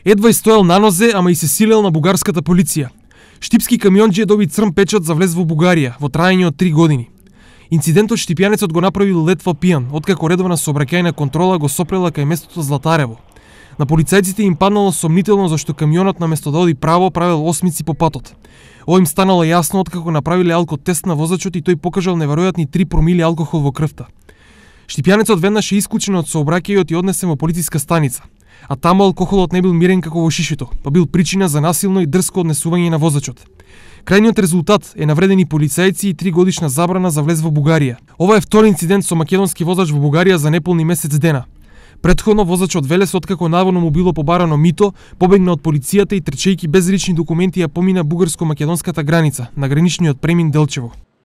Едва стоел на нозе, ама и се силел на бугарската полиција. Штипски камионџија доби црн печат за влез во Бугарија во траење од 3 години. Инцидентот штипјанецот го направил летва пијан, откако редовна сообраќајна контрола го сопрела кај местото Златарево. На полицајците им паднало сомнително зашто камионот наместо да оди право правел осмици по патот. Ова им станало јасно откако направиле алкотест на возачот и тој покажал неверојатни 3 промили алкохол во крвта. Штипјанецот веднаш е исклучен од сообраќајот и однесен во полициска станица. А таму алкохолот не бил мирен како во шишето, па бил причина за насилно и дрско однесување на возачот. Крајниот резултат е навредени полицајци и 3 годишна забрана за влез во Бугарија. Ова е втори инцидент со македонски возач во Бугарија за неполни месец дена. Предходно возачот Велес, откако наводно му било побарано мито, побегна од полицијата и трчејќи без лични документи ја помина бугарско-македонската граница на граничниот премин Делчево.